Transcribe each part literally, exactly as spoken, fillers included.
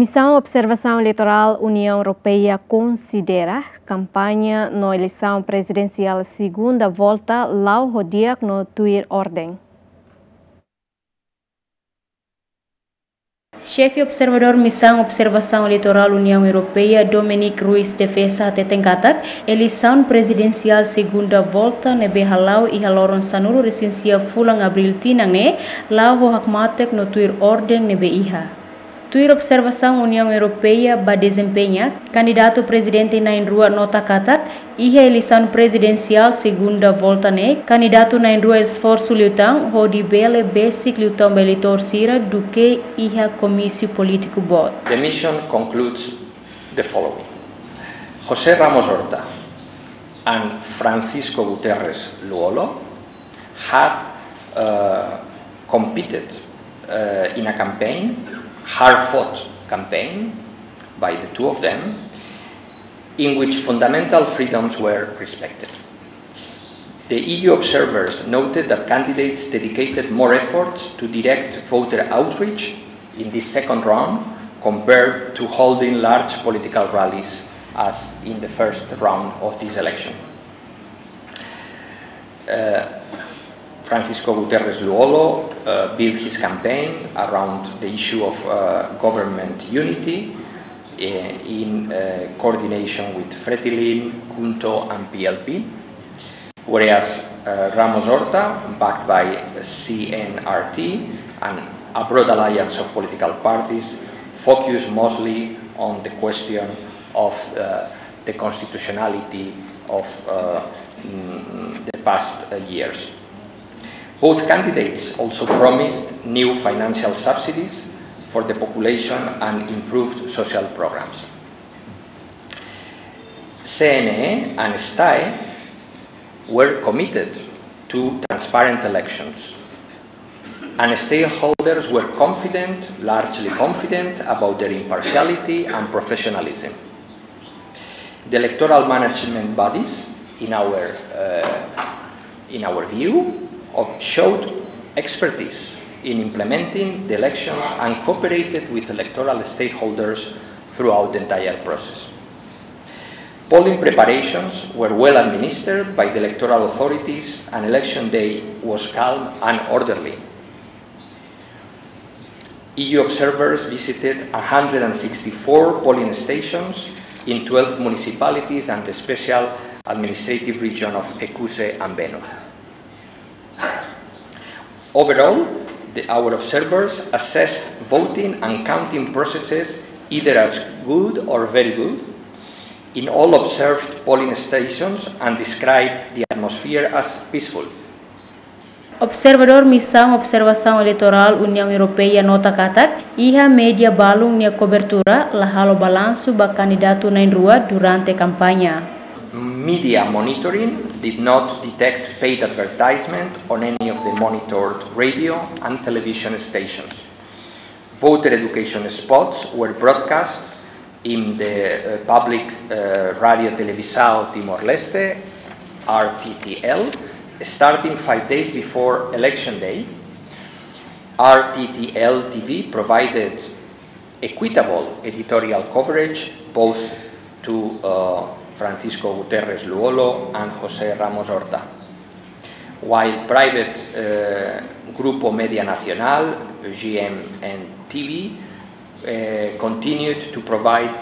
Misaun Observasaun Eleitorál Uniaun Europeia konsidera kampaña no eleisaun prezidensiál segunda volta la'o ho di'ak no tuir orden. Xefe observadór Misaun Observasaun Eleitorál Uniaun Europeia, Dominique Ruiz de Feza, hateten katak eleisaun prezidensiál segunda volta ne'ebé hala'o iha loron sanulu-resin-sia fulan Abríl tinan ne'e la'o ho hakmatek no tuir orden ne'ebé iha. Tuir observasaun Uniaun Europeia ba dezempeñu, kandidatu prezidente na'in-rua nota katak iha eleisaun prezidensiál segunda volta ne'e, kandidatu na'in-rua esforsu liután hodi bele besik liután ba eleitór sira duké iha komísiu polítiku boot. The mission concludes the following. José Ramos Horta and Francisco Guterres Lú-Olo had, uh, competed, uh, in a campaign, hard-fought campaign by the two of them, in which fundamental freedoms were respected. The E U observers noted that candidates dedicated more efforts to direct voter outreach in this second round compared to holding large political rallies as in the first round of this election. Uh, Francisco Guterres Lú-Olo, uh, built his campaign around the issue of, uh, government unity, uh, in, uh, coordination with Fretilin, KHUNTO, and P L P. Whereas, uh, Ramos Horta, backed by C N R T and a broad alliance of political parties, focused mostly on the question of, uh, the constitutionality of, uh, mm, the past, uh, years. Both candidates also promised new financial subsidies for the population and improved social programs. C N E and STAE were committed to transparent elections, and stakeholders were confident, largely confident, about their impartiality and professionalism. The electoral management bodies, in our, uh, in our view, of-, showed expertise in implementing the elections and cooperated with electoral stakeholders throughout the entire process. Polling preparations were well administered by the electoral authorities, and election day was calm and orderly. E U observers visited a hundred and sixty-four polling stations in twelve municipalities and the special administrative region of Oecusse and Beno. Overall, the, our observers assessed voting and counting processes either as good or very good in all observed polling stations and described the atmosphere as peaceful. Observadór Misaun Observasaun Eleitorál Uniaun Europeia nota katak iha média balun nia kobertura la halo balansu ba kandidatu na'in-rua durante kampaña. Media monitoring did not detect paid advertisement on any of the monitored radio and television stations. Voter education spots were broadcast in the, uh, public, uh, Radio Televisao Timor-Leste, R T T L, starting five days before election day. R T T L T V provided equitable editorial coverage both to, uh, Francisco Guterres Lú-Olo and José Ramos Horta, while private, uh, Grupo Media Nacional, G M N T V, uh, continued to provide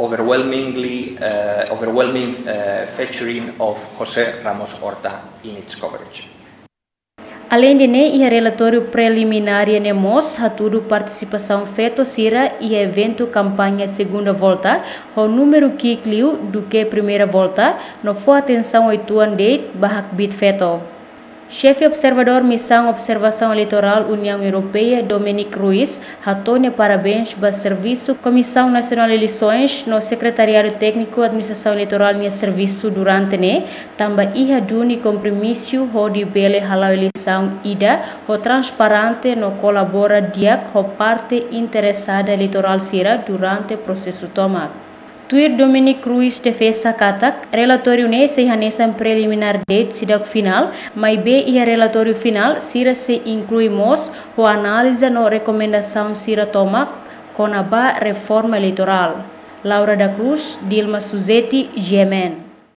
overwhelmingly, uh, overwhelming, uh, featuring of José Ramos Horta in its coverage. Aleinde ne'e, iha relatóriu preliminár ne'e mós hatudu partisipasaun feto sira iha eventu kampaña segunda volta ho númeru ki'ik liu duké primeira volta, no fó atensaun uitoan de'it ba hakbiit feto. Xefe observadór Misaun Observasaun Eleitorál Uniaun Europeia, Dominique Ruiz, hato'o nia parabéns ba servisu Komisaun Nasionál Eleisoens no Sekretariadu Tékniku Administrasaun Eleitorál nia servisu durante ne'e, tanba iha duni kompromisu hodi bele hala'o eleisaun ida ho transparente no kolabora di'ak ho parte interesada eleitorál sira durante prosesu tomak. Tuir Dominique Ruiz de Feza katak, relatóriu ne'e sei hanesan preliminár de'it seidauk finál, maibé iha relatóriu finál sira sei inklui mós ho análize no rekomendasaun sira tomak kona-ba reforma eleitorál. Laura da Cruz, Dilma Suzeti, G M N.